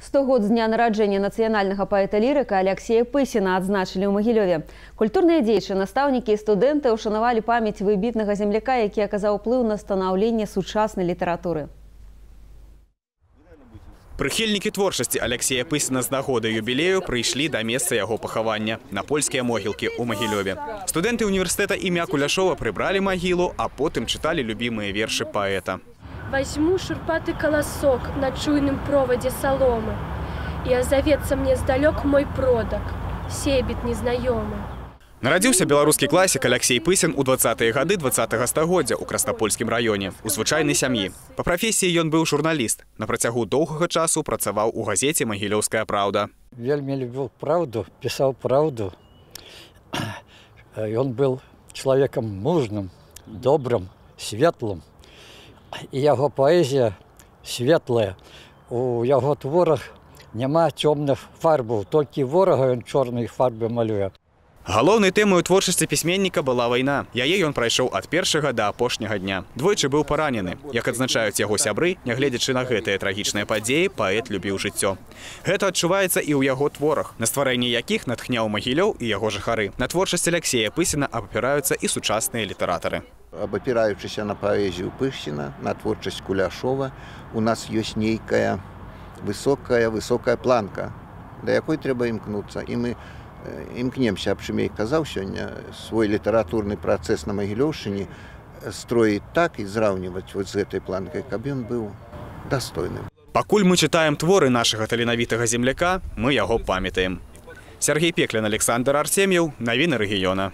100 год з дня нараджэння нацыянальнага паэта-лірыка Алексея Пысіна адзначылі ў Магілёве. Культурныя дзеячы, настаўнікі і студэнты ўшанавалі памяць выбітнага земляка, які аказаў уплыў на станаўленне сучаснай літаратуры. Прыхільнікі творчасці Алексея Пысіна з нагоды юбілею прыйшлі да месца яго пахавання на польскія могілкі ў Магілёве. Студэнты універсітэта імя Куляшова прыбралі магілу, а потым чыталі любімыя вершы паэта. Возьму шурпатый колосок на чуйным проводе соломы, и озовется мне сдалек мой продок, себет незнаёмы. Нарадзіўся беларускі класік Алексей Пысін у 20-е гады 20-го стагоддзя ў Краснапольскім раёне, у звычайнай сям'і. Па прафесіі ён быў журналіст. На працягу доўгага часу працаваў у газеце «Магілёўская правда». Вельмі любіў правду, пісаў правду. Ён быў чалавекам мужным, добрым, светлым. І яго паэзія светлая. У яго творах няма цёмных фарбаў, толькі ворага ён чорнай фарбы малюе. Галоўнай тэмай у творчасці пісьменніка была вайна. Яе ён прайшоў ад першага да апошняга дня. Двойчы быў паранены. Як адзначаюць яго сябры, нягледзячы на гэтыя трагічныя падзеі, паэт любіў жыццё. Гэта адчуваецца і ў яго творах, на стварэнне якіх натхняў Магілёў і яго жыхары. На творчасць Алексея Пысіна абапіраюцца і сучасныя літаратары. Абапіраючыся на паэзію Пысіна, на творчасць Куляшова, у нас ёсць нейкая высокая планка, да якой трэба імкнуцца. І мы імкнемся, аб чым я і казаў сёння, свой літаратурны працэс на Магілёўшчыне строіць так і зраўніваць з гэтай планкай, каб ён быў дастойным. Пакуль мы чытаем творы нашага таленавітага земляка, мы яго памятаем. Сергей Пеклін, Александр Артем'єв, навіны рэгіёна.